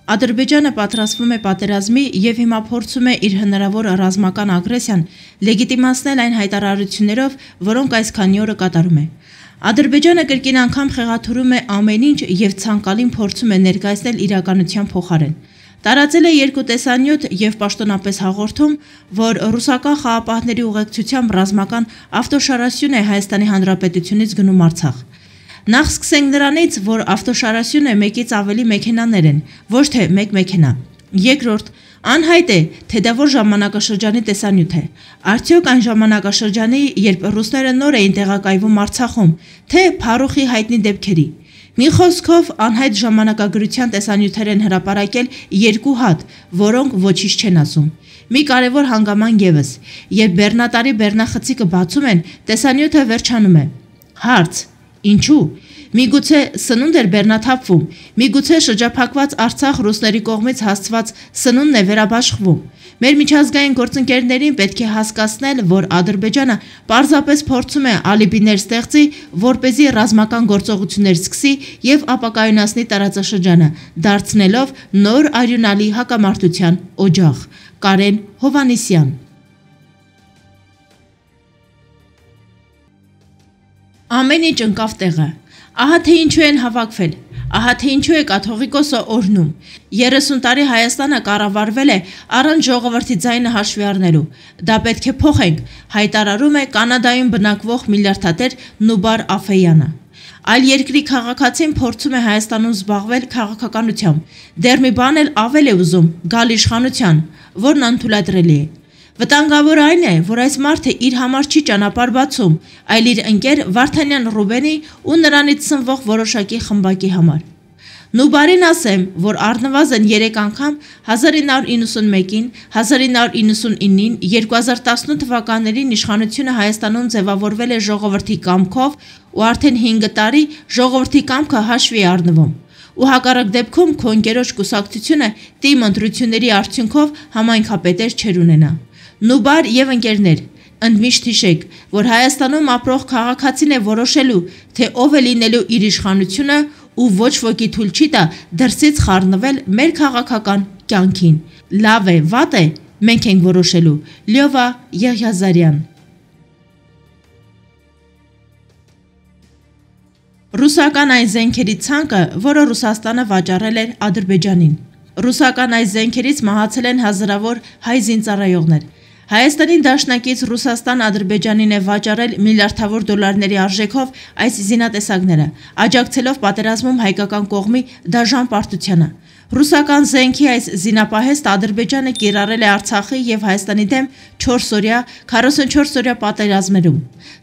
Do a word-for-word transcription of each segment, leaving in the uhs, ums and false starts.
Ադրբեջանը պատրաստվում է պատերազմի և հիմա փորձում է իր հնարավոր ռազմական ագրեսիան լեգիտիմացնել այն հայտարարություններով, որոնք այս քանի օրը կատարում է։ Ադրբեջանը կրկին անգամ խեղաթյուրում է ամեն ինչ և ցանկալին փորձում է ներկայացնել իրականության փոխարեն։ Տարածել է երկու տեսանյութ և պաշտոնապես հաղորդում, որ ռուսական խաղապահների ուղեկցությամբ ռազմական ավտոշարասյուն է Հայաստանի Հանրապետությունից գնում Արցախ։ Նախ սկսենք նրանից, որ ավտոշարասյունը մեկից ավելի մեքենաներ են, ոչ թե մեկ մեքենա։ Երկրորդ, անհայտ է, թե դա որ ժամանակաշրջանի տեսանյութ է։ Արդյոք այն ժամանակաշրջանի, երբ ռուսները նոր էին տեղակայվում Արցախում, թե Փարուխի հայտնի դեպքերի։ Մի խոսքով, անհայտ ժամանակագրության տեսանյութեր են հրապարակել երկու հատ, որոնք ոչինչ չեն ասում։ Մի կարևոր հանգաման ևս, երբ բեռնատարի բեռնախցիկը բացում են, տեսանյութը վերջանում է։ Հարց. Ինչու՞։ Միգուցե սնունդ էր բեռնաթափվում, միգուցե շրջափակված Արցախ ռուսների կողմից հասցված սնունդն է վերաբաշխվում։ Մեր միջազգային գործընկերներին պետք է հասկացնել, որ Ադրբեջանը պարզապես փորձում է ալիբիներ ստեղծի, որպեսզի ռազմական գործողություններ սկսի և ապակայունացնի տարածաշրջանը, դարձնելով նոր արյունալի հակամարտության օջախ։ Կարեն Հովհաննիսյան։ Ամեն ինչ ընկավ տեղը։ Ահա թե ինչու են հավաքվել, ահա թե ինչու է կաթողիկոսը օրհնում։ երեսուն տարի Հայաստանը կառավարվել է առանց ժողովրդի ձայնը հաշվի առնելու։ Դա պետք է փոխենք, հայտարարում է Կանադայում բնակվող միլիարդատեր Նուբար Աֆեյանը։ Այլ երկրի քաղաքացին փորձում է Հայաստանում զբաղվել քաղաքականությամբ։ Դեռ մի բան էլ ավել է ուզում՝ գալ իշխանության, որն անթույլատրելի է։ Վտանգավոր այն է, որ այս մարդը իր համար չի ճանապարհ բացում, այլ իր ընկեր Վարդանյան Ռուբենի ու նրանից սնվող որոշակի խմբակի համար։ Նուբարին ասեմ, որ առնվազն երեք անգամ հազար ինը հարյուր իննսունմեկին, հազար ինը հարյուր իննսունինին, երկու հազար տասնութ թվականներին իշխանությունը Հայաստանում ձևավորվել է ժողովրդի կամքով ու արդեն հինգ տարի ժողովրդի կամքը հաշվի է առնվում։ Ու հակառակ դեպքում քո ընկերոջ կուսակցությունը տիմ ընտրությունների արդյունքով համայնքապետեր չեր ունենա։ Նուբար և ընկերներ, ընդմիշտ հիշեք, որ Հայաստանում ապրող քաղաքացին է որոշելու, թե ով է լինելու իր իշխանությունը ու ոչ ոքի թույլ չի տա դրսից խառնվել մեր քաղաքական կյանքին։ Լավ է, վատ է, մենք ենք որոշելու։ Լյովա Եղիազարյան։ Ռուսական այն զենքերի ցանկը, որը Ռուսաստանը վաճառել էր Ադրբեջանին։ Ռուսական այս զենքերից մահացել են հազարավոր հայ զինծառայողներ։ Հայաստանի դաշնակից Ռուսաստան Ադրբեջանին է վաճառել միլիարդավոր դոլարների արժեքով այս զինատեսակները, աջակցելով պատերազմում հայկական կողմի դաժան պարտությանը։ Ռուսական զենքի այս զինապահեստ Ադրբեջանը կիրառել է Արցախի և Հայաստանի դեմ չորսօրյա, քառասունչորսօրյա պատերազմներում,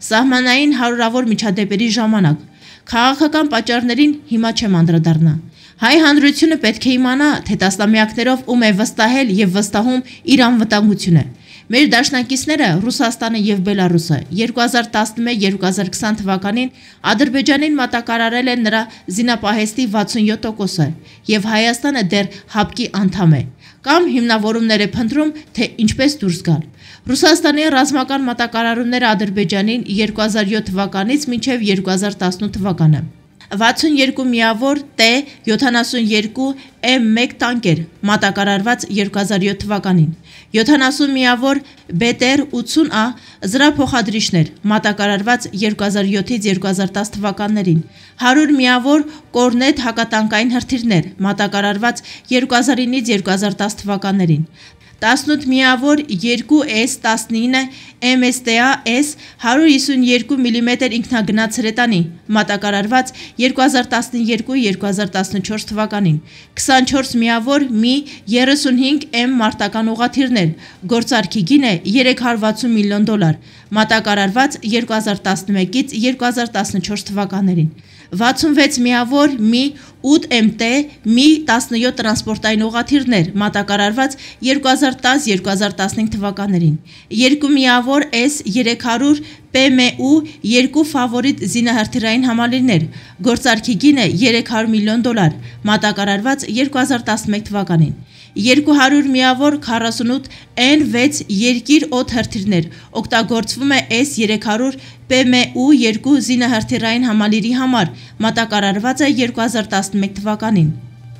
սահմանային հարյուրավոր միջադեպերի ժամանակ։ Քաղաքական պատճառներին հիմա չեմ անդրադառնա։ Հայ հանրությունը պետք է իմանա, թե տասնամյակներով ում է վստահել և վստահում իր անվտանգությունը։ Մեր դաշնակիցները Ռուսաստանը և Բելարուսը երկու հազար տասնմեկ երկու հազար քսան թվականին Ադրբեջանին մատակարարել են նրա զինապահեստի վաթսունյոթ տոկոսը և Հայաստանը դեռ հապկի անդամ է, կամ հիմնավորումներ է փնտրում, թե ինչպես դուրս գալ։ Ռուսաստանի ռազմական մատակարարումները Ադրբեջանին երկու հազար յոթ թվականից մինչև երկու հազար տասնութ թվականը։ վաթսունյոթ միավոր Տ յոթանասունյոթ Էմ մեկ տանկեր մատակարարված երկու հազար յոթ թվականին, յոթանասուն միավոր Բե Տե Ռ ութսուն Ա զրափոխադրիչներ մատակարարված երկու հազար յոթից երկու հազար տասը թվականներին, հարյուր միավոր Կորնետ հակատանկային հրթիռներ մատակարարված երկու հազար ինից երկու հազար տասը թվականներին, տասնութ միավոր երկու Էս տասնինը Էմ Էս Տե Ա Էս հարյուր հիսունյոթ միլիմետր ինքնագնաց հրետանի մատակարարված երկու հազար տասնյոթ երկու հազար տասնչորս թվականին, քսանչորս միավոր Մի երեսունհինգ Էմ մարտական ուղղաթիռներ, գործարքի գինը երեք հարյուր վաթսուն միլիոն դոլար, մատակարարված երկու հազար տասնմեկից երկու հազար տասնչորս թվականներին, վաթսունվեց միավոր Մի ութ Էմ Տե Մի տասնյոթ տրանսպորտային ուղղաթիռներ մատակարարված երկու հազար տասը երկու հազար տասնհինգ թվականներին, երկու միավոր Էս երեք հարյուր Պ Մե ու երկու ֆավորիտ զինահրթիռային համալիրներ, գործարքի գինը երեք հարյուր միլիոն դոլար, մատակարարված երկու հազար տասնմեկ թվականին, երկու հարյուր միավոր քառասունութ Էն վեց երկիր օդ հրթիռներ, օգտագործվում է Էս երեք հարյուր Պ Մե ու երկու զինահրթիռային համալիրի համար, մատակարարված է երկու հազար տասնմեկ թվականին։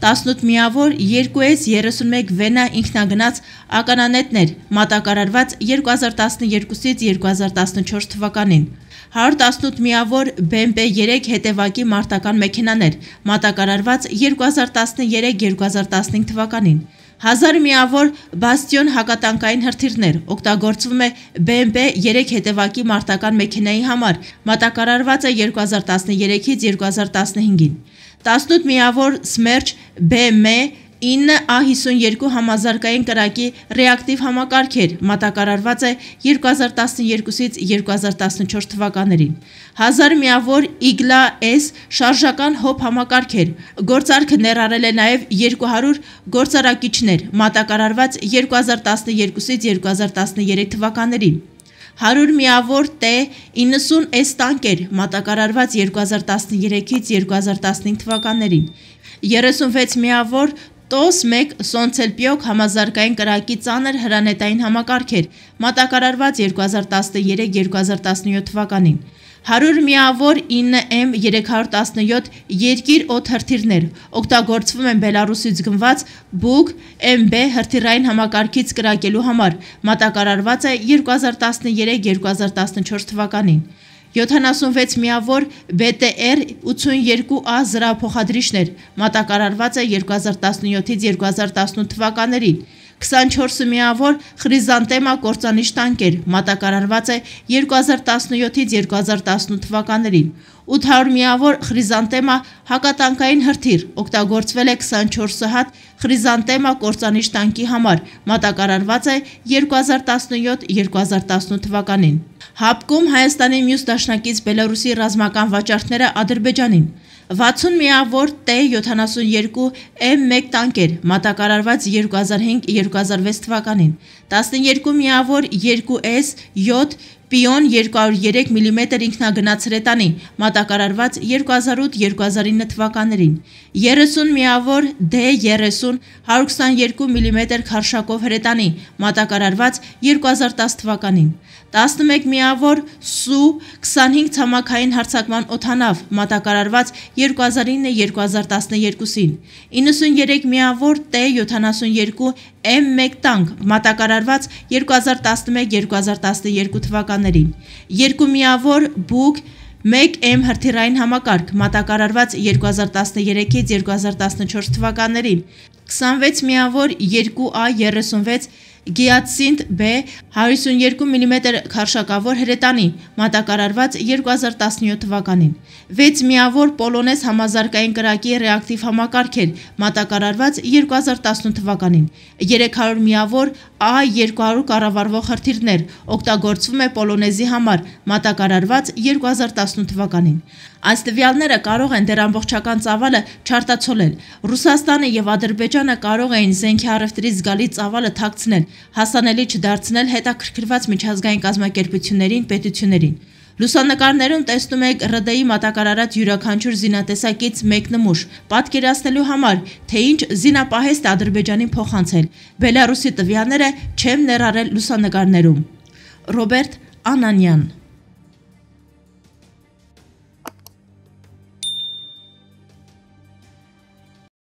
տասնութ միավոր երկու էս երեսունմեկ վենա ինքնագնաց ականանետներ մատակարարված երկու հազար տասնյոթից երկու հազար տասնչորս թվականին, հարյուր տասնութ միավոր բի էմ պի երեք հետևակի մարտական մեքենաներ մատակարարված երկու հազար տասներեք երկու հազար տասնհինգ թվականին, հազար միավոր բաստիոն հակատանկային հրթիռներ օգտագործվում է բի էմ պի երեք հետևակի մարտական մեքենայի համար մատակարարված է երկու հազար տասներեքից երկու հազար տասնհինգին, տասնութ միավոր Սմերջ բի էմ ինը ա հիսունյոթ համազարգային կրակի ռեակտիվ համակարգեր մատակարարված է երկու հազար տասներեքից երկու հազար տասնչորս թվականներին, հազար միավոր Իգլա S շարժական հոբ համակարգեր, գործարքը ներառել է նաև երկու հարյուր գործարակիչներ մատակարարված երկու հազար տասներեքից երկու հազար տասներեք թվականներին, հարյուր միավոր T իննսուն S տանկեր մատակարարված երկու հազար տասներեքից երկու հազար տասնհինգ թվականներին, երեսունվեց միավոր տոս մեկ Սոնցելպիոկ համազարգային կրակի ծանր հրանետային համակարգեր մատակարարված երկու հազար տասներեք երկու հազար տասնյոթ թվականին, հարյուր միավոր ինը էմ երեք հարյուր տասնյոթ երկիր օդ հրթիռներ օգտագործվում են Բելարուսից գնված Բուկ էմ բի հրթիռային համակարգից կրակելու համար մատակարարված է երկու հազար տասներեք երկու հազար տասնչորս թվականին, յոթանասունվեց միավոր բի տի էր ութսունյոթ ա զրահափոխադրիչներ մատակարարված է երկու հազար տասնյոթից երկու հազար տասնութ թվականներին, քսանչորս միավոր Խրիզանտեմա կործանիչ տանկեր մատակարարված է երկու հազար տասնյոթից երկու հազար տասնութ թվականներին, ութ հարյուր միավոր Խրիզանտեմա հակատանկային հրթիռ օգտագործվել է քսանչորս հատ Խրիզանտեմա կործանիչ տանկի համար մատակարարված է երկու հազար տասնյոթ երկու հազար տասնութ թվականին, հապկում Հայաստանի մյուս դաշնակից Բելարուսի ռազմական վաճառքները Ադրբեջանին, վաթսուն միավոր T յոթանասունյոթ էմ մեկ տանկեր մատակարարված երկու հազար հինգ երկու հազար վեց թվականին, տասներկու միավոր երկու էս յոթ Պիոն երկու հարյուր երեք միլիմետր ինքնագնաց հրետանի մատակարարված երկու հազար ութ երկու հազար ինը թվականներին, երեսուն միավոր D երեսուն հարյուր քսանյոթ միլիմետր քարշակով հրետանի մատակարարված երկու հազար տաս թվականին, տասնմեկ միավոր Սու քսանհինգ ցամաքային հարձակման օդանավ մատակարարված երկու հազար ինը երկու հազար տասներեքին, իննսունյոթ միավոր T յոթանասունյոթ էմ մեկ տանկ մատակարարված երկու հազար տասնմեկ երկու հազար տասներեք թվականներին, երկու միավոր Բուկ մեկ էմ հրթիռային համակարգ մատակարարված երկու հազար տասներեքից երկու հազար տասնչորս թվականներին, քսանվեց միավոր երկու ա երեսունվեց Գիացինտ B հարյուր հիսունյոթ միլիմետր քարշակավոր հրետանի մատակարարված երկու հազար տասնյոթ թվականին, վեց միավոր Պոլոնես համազարգային կրակի ռեակտիվ համակարգեր մատակարարված երկու հազար տասնութ թվականին, երեք հարյուր միավոր ա երկու հարյուր կառավարվող հրթիռներ օգտագործվում է Պոլոնեզի համար մատակարարված երկու հազար տասնութ թվականին, այս տվյալները կարող են դեռ ամբողջական ծավալը չարտացոլել, Ռուսաստանը և Ադրբեջանը կարող էին զենքի առևտրից զգալի ծավալը թաքցնել, հասանելի չդարձնել հետաքրքրված միջազգային կազմակերպություններին, պետություններին, լուսանկարներում տեսնում եք R D-ի մատակարարած յուրաքանչյուր զինատեսակից մեկ նմուշ, պատկերացնելու համար, թե ինչ զինապահեստ է Ադրբեջանին փոխանցել, Բելարուսի տվյալները չեմ ներառել լուսանկարներում, Ռոբերտ Անանյան